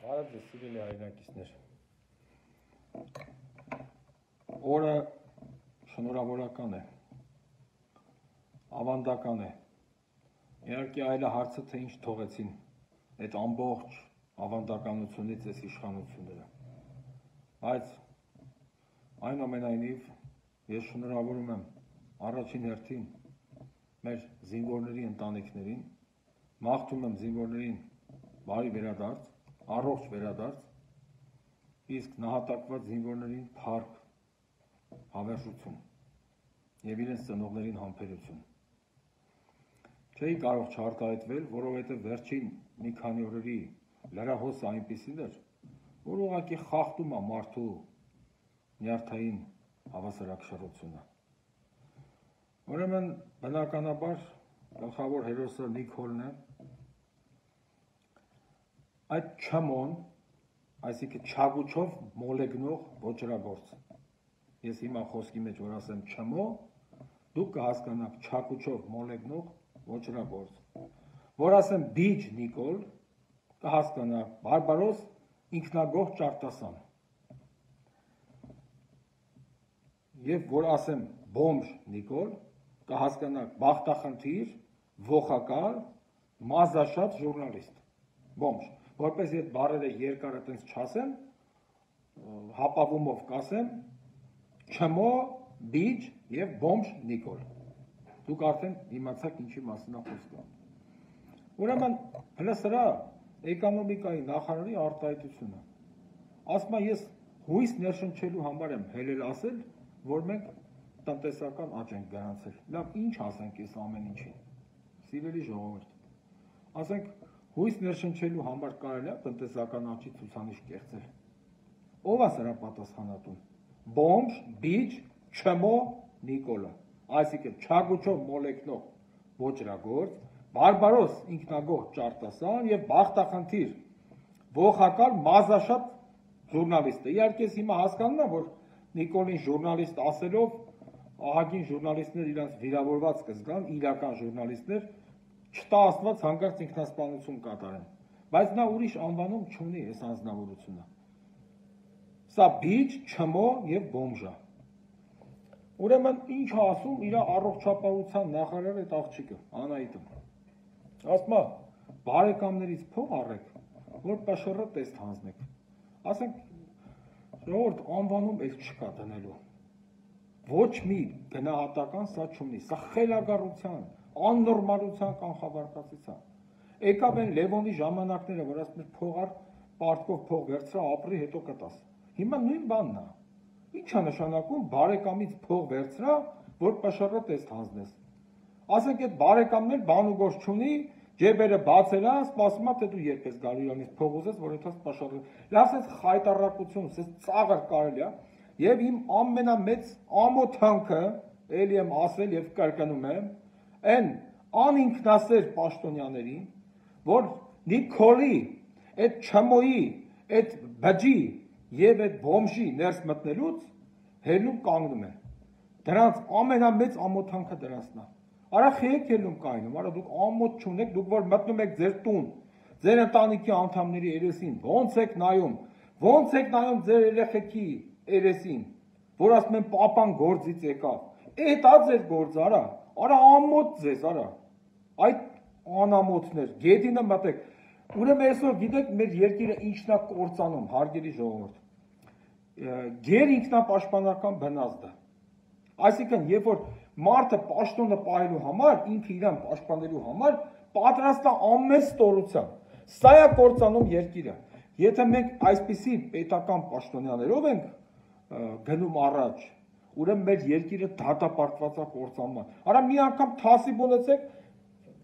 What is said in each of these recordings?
Բարև ձեզ սիրելի հայրենակիցներ։ Օրը շնորհավորական է, ավանդական է։ Իհարկե այլ հարցը թե ինչ թողեցին այդ ամբողջ ավանդականությունից այս իշխանությունները։ Բայց այնուամենայնիվ ես շնորհավորում եմ առաջին հերթին մեր զինվորների ընտանիքներին, մաղթում եմ զինվորներին բարի վերադարձ, առողջ վերադարձ, իսկ նահատակված զինվորներին փառք, հավերժություն եւ իրենց ծնողներին համբերություն։ Չէի կարող չարտահայտվել, որովհետեւ վերջին մի քանի օրերի լրահոսը այնպիսին էր, որ ուղղակի խախտում է մարդու նյարդային հավասարակշռությունը։ Ուրեմն բնականաբար գլխավոր հերոսը Նիկոլն է։ Այդ չմոն, այսինքն չագուչով մոլեգնող ոչրագործ։ Ես հիմա խոսքի մեջ որ ասեմ չմո, դուք կհասկանաք չագուչով մոլեգնող ոչրագործ։ Որ ասեմ բիջ Նիկոլ, կհասկանաք բարբարոս ինքնագող ճարտասան։ Եվ որ ասեմ բոմժ Նիկոլ, կհասկանաք բախտախնդիր, ողակալ, մազաշատ ժուրնալիստ։ Բոմժ, որպես այդ բառերը երկար այտենց չասեմ, հապավումով կասեմ, չմո, բիջ եւ բոմժ Նիկոլ։ Դուք արդեն իմացաք ինչի մասին է խոսքը։ Ուրեմն հենց սրա էկոնոմիկայի նախարարի արտահայտությունը։ Ասում եմ ես հույս ներշնչելու համար եմ հելել ասել, որ մենք տնտեսական աճ ենք գրանցել։ Լավ, ինչ ասենք այս ամեն ինչին։ Սիրելի ժողովուրդ, ասենք հույս ներշնչելու համար կարելի է տնտեսական աճի ցուցանիշ կեղծել։ Ո՞վ է սրա պատասխանատուն։ Բոմժ, բիջ, չմո, Նիկոլը, այսինքն չագուչով մոլեգնող ոչրագործ, բարբարոս ինքնագող ճարտասան եւ բախտախնդիր ողակալ մազաշատ ժուրնալիստը։ Իհարկե հիմա հասկանում եմ, որ Նիկոլին ժուրնալիստ ասելով ահագին ժուրնալիստներ իրենց վիրավորված կզգան, իրական ժուրնալիստներ չտա աստված հանկարծ ինքնասպանություն կատարեն, բայց նա ուրիշ անվանում չունի այս անձնավորությունը։ Սա բիջ, չմո եւ բոմժ է։ Ուրեմն ինչ ասում իր առողջապահության նախարարը այդ աղջիկը, Անահիտը։ Ասում է, բարեկամներից փող առեք, որ ՊՇՌ տեստ հանձնեք։ Ասենք, ժողովուրդ անվանում էլ չկա դնելու։ Ոչ մի գնահատական սա չունի, սա խելագարության, աննորմալության կանխավարկածության։ Եկավ են Լևոնի ժամանակները, որ ասում էր փող առ, պարտքով փող վերցրա, ապրի, հետո կտաս։ Հիմա նույն բանն է։ Ինչ է նշանակում բարեկամից փող վերցրա, որ ՊՇՌ տեստ հանձնես։ Ասենք այդ բարեկամն էլ բան ու գործ չունի, ջեբերը բացել է, սպասում է թե դու երբ ես գալու իրանից փող ուզես, որ հետո ՊՇՌ։ Լավ, այս խայտարակություն, այս ծաղր կարելի է, եւ իմ ամենամեծ ամոթանքը, ելի եմ ասել եւ կրկնում եմ, այն անինքնասեր պաշտոնյաներին, որ Նիկոլի, այդ չմոյի, այդ բջի եւ այդ բոմժի ներս մտնելուց հելում կանգնում են։ Դրանց ամենամեծ ամոթանքը դրանցն է։ Արա խեք ելում կայնում, արա դուք ամոթ չունեք, դուք որ մտնում եք ձեր տուն, ձեր ընտանիքի անդամների երեսին, ոնց եք նայում ձեր երեխեքի երեսին, որ ասում են պապան գործից եկավ։ Էտա ձեր գործը, արա ամոթ ձեզ, այդ անամոթներ, գետինը մտեք։ Ուրեմն այսօր գիտեք մեր երկիրը ինչն է կործանում, հարգելի ժողովուրդ։ Գեր ինքնապաշտպանական բնազդը։ Այսինքն, երբ որ մարդը պաշտոնը պահելու համար, ինքը իրան պաշտպանելու համար պատրաստ է ամեն ստորությամբ։ Սա է կործանում երկիրը։ Եթե մենք այսպիսի պետական պաշտոնյաներով ենք գնում առաջ, ուրեմն մեր երկիրը դատապարտված է կործանման։ Արա մի անգամ թասիբ ունեցեք,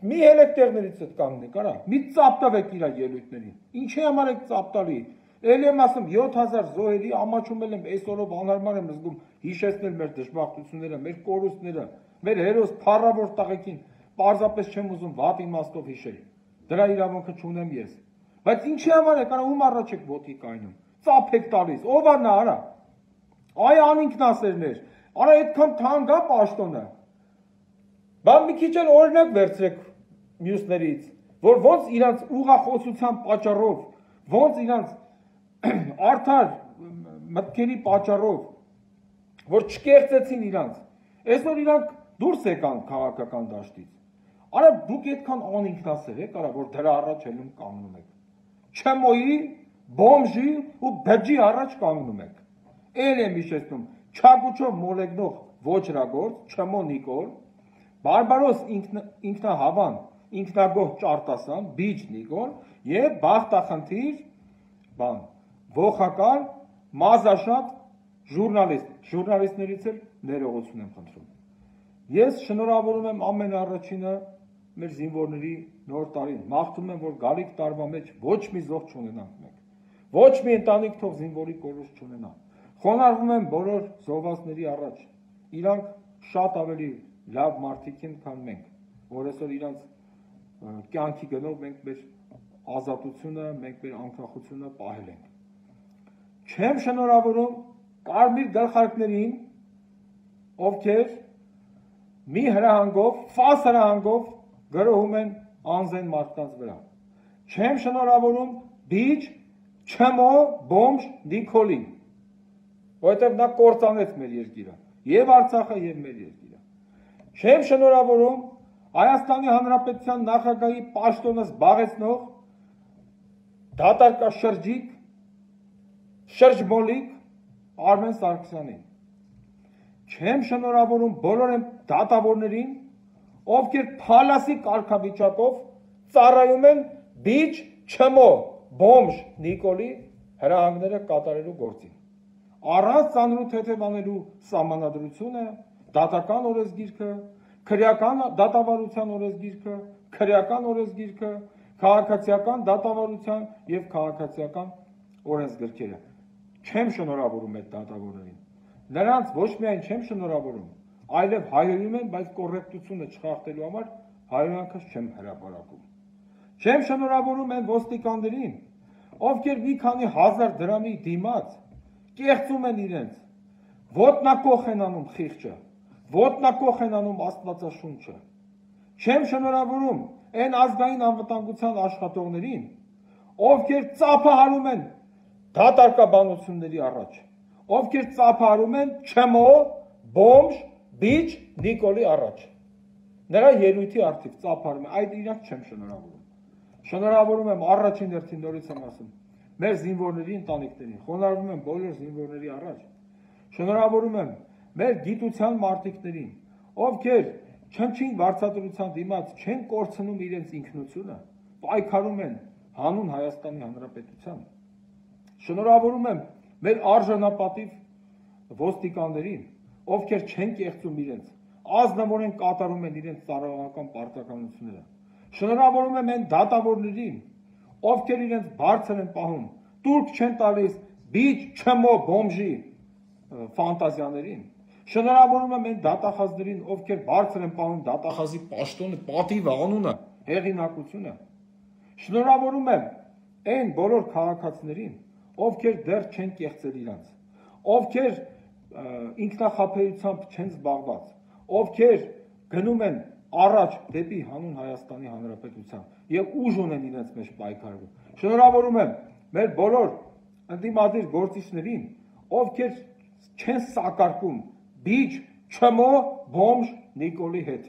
մի ելեք տեղներից հետ կանգնեք, մի ծապտավեք իր ելույթներին։ Ինչի համար եք ծապտալի։ Էլի եմ ասում 7000 զոհերի ամաչում եմ այսօրով անհարմար եմ զգում հիշեցնել մեր դժբախտությունները, մեր կորուստները, մեր հերոս փառավոր տղեկին պարզապես չեմ ուզում վատ իմաստով հիշել։ Դրա իրավունքը չունեմ ես։ Բայց ինչի համար եք, ում առաջ եք ոտքի կայնում։ Ծափ եք տալիս, ով է նա, Այ անինքնասերներ, այդքան թանկ է պաշտոնը։ Բա մի քիչ էլ օրինակ վերցրեք մյուսներից, որ ոնց իրանց ուղղախոսության պատճառով, ոնց իրանց արդար մտքերի պատճառով, որ չկեղծեցին իրանց, այսօր իրանք դուրս եկան քաղաքական դաշտից, արա դուք այդքան անինքնասեր եք, արա որ դրա առաջ ելում կանգնում եք, չմոյի, բոմժի ու բջի առաջ կանգնում եք, էլ եմ իշեցնում, չագուչով մոլեգնող ոչրագործ, չմո Նիկոլ, բարբարոս ինքնահավան, ինքնագոհ Ճարտասան, բիջ Նիկոլ և բախտախնդիր բան, ողակալ, մազաշատ ժուրնալիստներից էլ ներողություն եմ խնդրում։ Ես շնորհավորում եմ ամեն առաջինը մեր զինվորների նոր տարին, մաղթում եմ, որ գալիք տարվա մեջ ոչ մի զոհ չունենանք մենք, ոչ մի ընտանիք թող զինվորի կորուստ չունենա, խոնարհվում եմ բոլոր զոհվածների առաջ, իրանք շատ ավելի լավ մարդիկ են, քան մենք, որ այսօր իրանց կյանքի գնով մենք մեր ազատությունը, մենք մեր անկախությունը պահել ենք։ Չեմ շնորհավորում կարմիր գլխարկներին, ովքեր մի հրահանգով, ֆաս հրահանգով գրոհում են անզեն մարդկանց վրա։ Չեմ շնորհավորում բիջ, չմո, բոմժ Նիկոլին, որովհետև նա կործանեց մեր երկիրը, և Արցախը, և մեր երկիրը։ Չեմ շնորհավորում Հայաստանի Հանրապետության նախագահի պաշտոնը զբաղեցնող դատարկաշրջիկ, շրջմոլիկ Արմեն Սարգսյանին։ Չեմ շնորհավորում բոլոր այն դատավորներին, ովքեր փալասի կարգավիճակով ծառայում են բիջ, չմո, բոմժ Նիկոլի հրահանգները կատարելու գործին։ Առանց ծանրու թեթևանելու սահմանադրությունը, դատական օրենսգիրքը, քրեական դատավարության օրենսգիրքը, քրեական օրենսգիրքը, քաղաքացիական դատավարության և քաղաքացիական օրենսգրքերը։ Չեմ շնորհավորում այդ դատավորներին։ Նրանց ոչ միայն չեմ շնորհավորում, այլև հայհոյում եմ, բայց կոռեկտությունը չխախտելու համար հայհոյանքս չեմ հրապարակում։ Չեմ շնորհավորում այն ոստիկաններին, ովքեր մի քանի հազար դրամի դիմաց կեղծում են իրենց, ոտնակոխ են անում խիղճը, ոտնակոխ են անում Աստվածաշունչը։ Չեմ շնորհավորում այն ազգային անվտանգության աշխատողներին, ովքեր ծափահարում են դատարկաբանությունների առաջ, ովքեր ծափահարում են չմո, բոմժ, բիջ Նիկոլի առաջ։ Նրա ելույթի արդիվ ծափահարում են, այդ իրանք չեմ շնորհավորում։ Շնորհավորում եմ առաջին հերթին նորից եմ ասում, մեր զինվորների ընտանիքներին, խոնարհվում եմ բոլոր զինվորների առաջ, շնորհավորում եմ մեր գիտության մարդիկներին, ովքեր չնչին վարձատրության դիմաց չեն կորցնում իրենց ինքնությունը, պայքարում են հանուն Հայաստանի Հանրապետության։ Շնորհավորում եմ մեր արժանապատիվ ոստիկաններին, ովքեր չեն կեղծում իրենց, ազնվորեն կատարում են իրենց ծառայողական պարտականությունները։ Շնորհավորում եմ այն դատավորներին, ովքեր իրենց բարձր են պահում, տուրք չեն տալիս բիջ, չմո, բոմժի ֆանտազիաներին։ Շնորհավորում եմ այն դատախազներին, ովքեր բարձր են պահում դատախազի պաշտոնը, պատիվը, անունը, հեղինակությունը։ Շնորհավորում եմ այն բոլոր քաղաքացիներին, ովքեր դեռ չեն կեղծել իրանց, ովքեր ինքնախաբեությամբ չեն զբաղված, ովքեր գնում են առաջ դեպի հանուն Հայաստանի Հանրապետության և ուժ ունեն իրենց մեջ պայքարելու։ Շնորհավորում եմ մեր բոլոր ընդդիմադիր գործիչներին, ովքեր չեն սակարկում բիջ, չմո, բոմժ Նիկոլի հետ,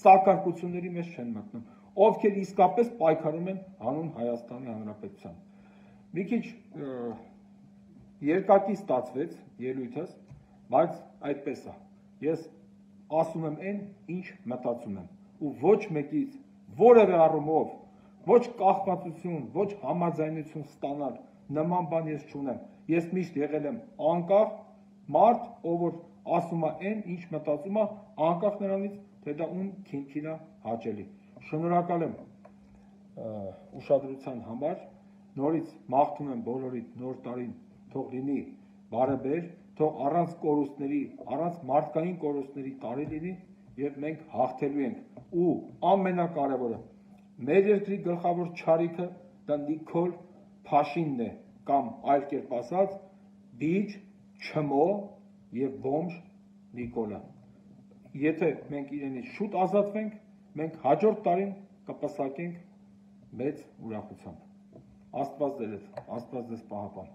սակարկությունների մեջ չեն մտնում, ովքեր իսկապես պայքարում են հանուն Հայաստանի Հանրապետության։ Մի քիչ երկակի ստացվեց ելույթս, բայց այդպես է։ Ես ասում եմ այն, ինչ մտածում եմ, ու ոչ մեկից որևէ առումով, ոչ կախվածություն, ոչ համաձայնություն ստանալ նման բան ես չունեմ։ Ես միշտ եղել եմ անկախ մարդ, ով որ ասում է այն, ինչ մտածում է, անկախ նրանից, թե դա ում քինքին է հաճելի։ Շնորհակալ եմ ուշադրության համար, նորից մաղթում եմ բոլորիդ նոր տարին թող լինի բարեբեր, թող առանց կորուստների, առանց մարդկային կորուստների տարի լինի և մենք հաղթելու ենք ու ամենակարևորը մեր երկրի գլխավոր չարիքը դա Նիկոլ Փաշինն է կամ այլ կերպ ասած բիջ, չմո և բոմժ Նիկոլը։ Եթե մենք իրենից շուտ ազատվենք, մենք հաջորդ տարին կպսակենք մեծ ուրախությամբ։ Աստված ձեզ պահապան։